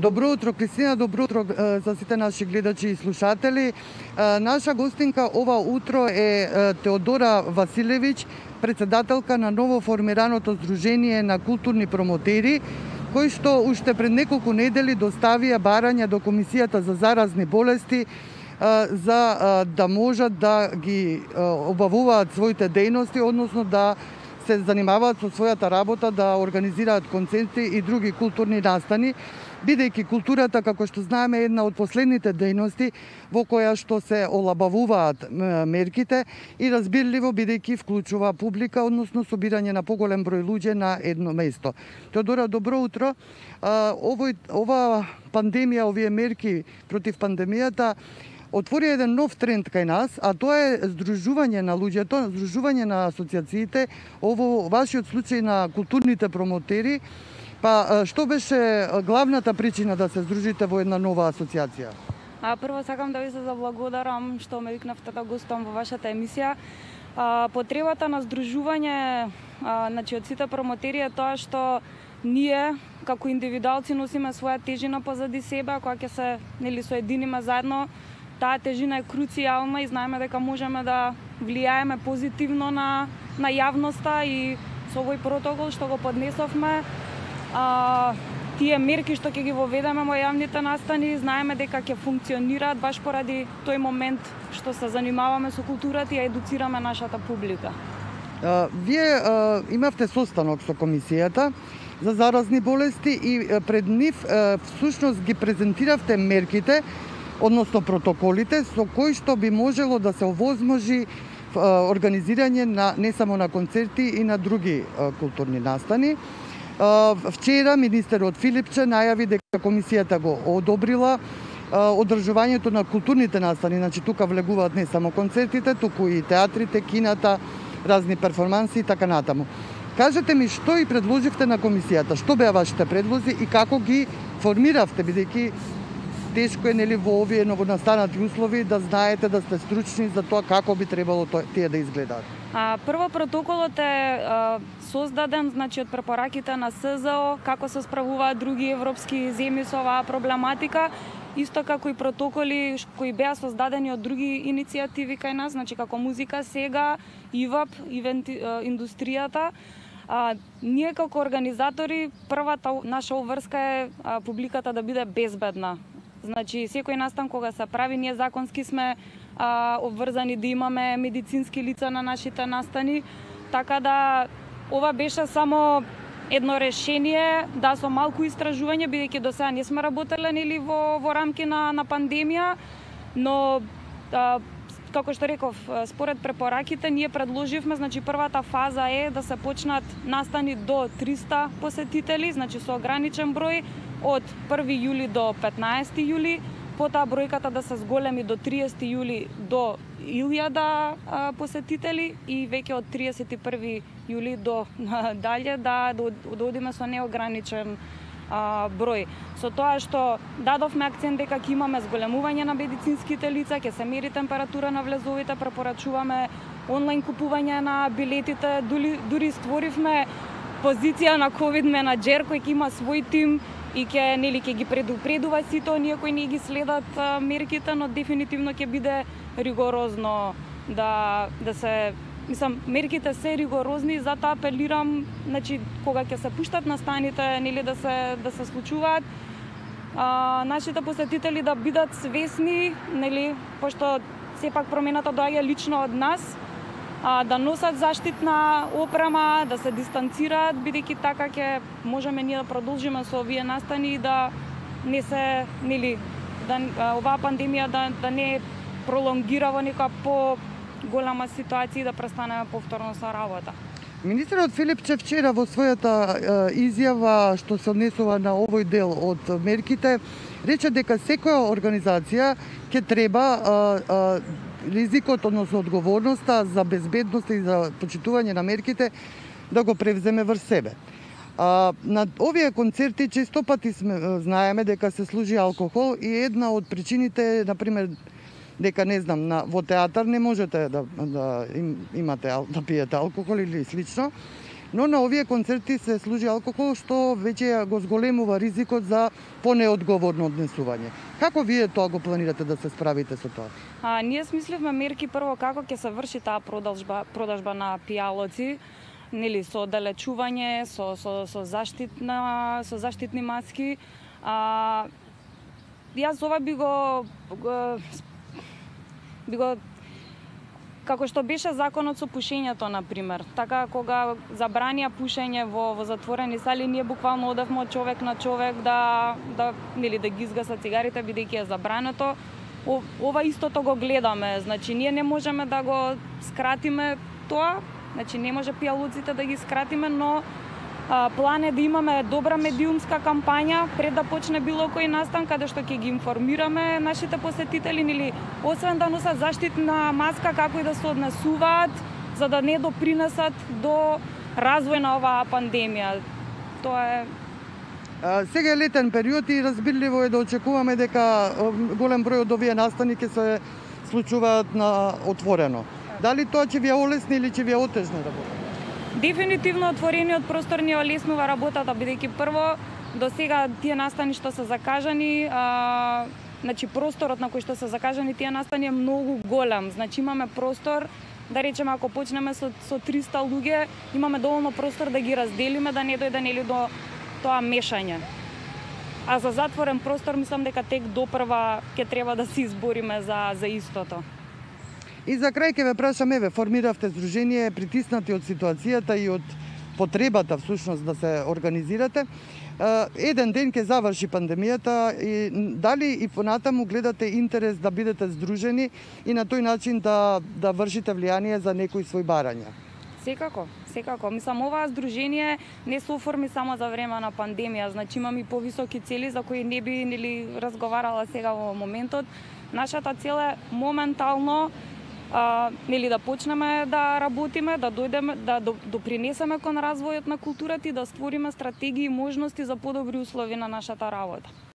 Добро утро, Кристина, добро утро за сите наши гледачи и слушатели. Наша гостинка ова утро е Теодора Василевиќ, председателка на ново формираното Сдружение на културни промотери, кои што уште пред неколку недели доставија барања до Комисијата за заразни болести за да можат да ги обавуваат своите дејности, односно да се занимаваат со својата работа, да организираат концерти и други културни настани, бидејќи културата, како што знаеме, е една од последните дејности во која што се олабавуваат мерките и разбирливо бидејќи вклучува публика, односно собирање на поголем број луѓе на едно место. Теодора, добро утро. Ова пандемија, овие мерки против пандемијата отвори еден нов тренд кај нас, а тоа е здружување на луѓето, здружување на асоциациите, ово вашиот случај на културните промотери. Па, што беше главната причина да се здружите во една нова асоциација? Прво сакам да ви се заблагодарам што ме викнавте да гостувам во вашата емисија. Потребата на здружување од сите промотери е тоа што ние како индивидуалци носиме своја тежина позади себе, кога ќе се соединиме заедно, таа тежина е круцијална и знаеме дека можеме да влијаеме позитивно на јавноста и со овој протокол што го поднесовме, тие мерки што ќе ги воведеме во јавните настани, знаеме дека ќе функционираат баш поради тој момент што се занимаваме со културата и едуцираме нашата публика. Вие имавте состанок со Комисијата за заразни болести и пред нив всушност ги презентиравте мерките, односно протоколите со кои што би можело да се овозможи организирање на не само на концерти и на други културни настани. Вчера министерот Филипче најави дека Комисијата го одобрила одржувањето на културните настани, значи тука влегуваат не само концертите, туку и театрите, кината, разни перформанси и така натаму. Кажете ми што и предложивте на Комисијата, што беа вашите предлози и како ги формиравте, бидејќи тешко е во овие новонастанати услови да знаете, да сте стручни за тоа како би требало тие да изгледаат. Прво протоколот е создаден од препораките на СЗО, како се справуваат други европски земји со оваа проблематика, исто како и протоколи кои беа создадени од други иницијативи кај нас, како Музика сега, ИВАП, индустријата. Ние како организатори, првата наша обврска е публиката да биде безбедна. Секој настан кога се прави, ние законски сме обврзани да имаме медицински лица на нашите настани, така да ова беше само едно решение, да со малку истражување, бидејќи до сега не сме работеле во рамки на пандемија, но како што реков, според препораките ние предложивме, првата фаза е да се почнат настани до 300 посетители, со ограничен број од 1 јули до 15 јули, потоа бројката да се зголеми до 30 јули до 1000 посетители и веќе од 31 јули до дале да одиме со неограничен број. Со тоа што дадовме акцент дека ќе имаме зголемување на медицинските лица, ќе се мери температура на влезовите, препорачуваме онлайн купување на билетите, дури створивме позиција на ковид менаџер кој ќе има свој тим и ќе ги предупредува сите оние кои не ги следат мерките, но дефинитивно ќе биде ригорозно да се... мерките се ригорозни, затоа апелирам, кога ќе се пуштат настаните, да се случуваат, нашите посетители да бидат свесни, пошто сепак промената доаѓа лично од нас, да носат заштитна опрема, да се дистанцираат, бидејќи така ќе можеме ние да продолжиме со овие настани и да не се, оваа пандемија да не пролонгира во нека голема ситуација и да престанеме повторно со работа. Министерот Филипче вчера во својата изјава што се однесува на овој дел од мерките, рече дека секоја организација ќе треба ризикот, односно одговорноста за безбедност и за почитување на мерките да го превземе врз себе. На овие концерти често пати знаеме дека се служи алкохол и една од причините е, например, дека во театар не можете да имате да пиете алкохол или слично. Но на овие концерти се служи алкохол, што веќе го зголемува ризикот за понеодговорно однесување. Како вие тоа го планирате да се справите со тоа? Ние смисливме мерки прво како ќе се врши таа продажба на пијалоци, нели со оддалечување, со заштитни маски. Јас ова би го како што беше законот со пушењето, на пример. Така, кога забранија пушење во затворени сали, ние буквално одевме од човек на човек да ги изгаса цигарите, бидејќи е забрането. Ова истото го гледаме, значи ние не можеме да го скратиме тоа, значи не може пијалоците да ги скратиме, но план е да имаме добра медиумска кампања пред да почне било кој настан, каде што ќе ги информираме нашите посетители, или освен да носат заштитна маска, како и да се однесуваат, за да не допринесат до развој на оваа пандемија. Тоа е. Сега е летен период и разбирливо е да очекуваме дека голем број од овие настани ќе се случуваат на отворено. Дали тоа ќе ви ја олесни или ќе ви ја отежни работа? Дефинитивно отворениот простор ни олеснува работата, бидејќи прво до сега тие настани што се закажани, значи просторот на кој што се закажани тие настани е многу голем. Значи имаме простор, да речеме ако почнеме со 300 луѓе, имаме доволно простор да ги разделиме, да не дојде нели до тоа мешање. А за затворен простор мислам дека тек допрва ќе треба да се избориме за истото. И за крај ќе ве прашам, еве, формиравте здружение, притиснати од ситуацијата и од потребата всушност да се организирате. Еден ден ќе заврши пандемијата и дали и понатаму гледате интерес да бидете здружени и на тој начин да вршите влијание за некои свој барања? Секако. Мислам, оваа здружение не се оформи само за време на пандемија, значи имам и повисоки цели за кои не би разговарала сега во моментот. Нашата цел е моментално да почнеме да работиме, да дојдеме, да допринесеме кон развојот на културата и да створиме стратегии и можности за подобри услови на нашата работа.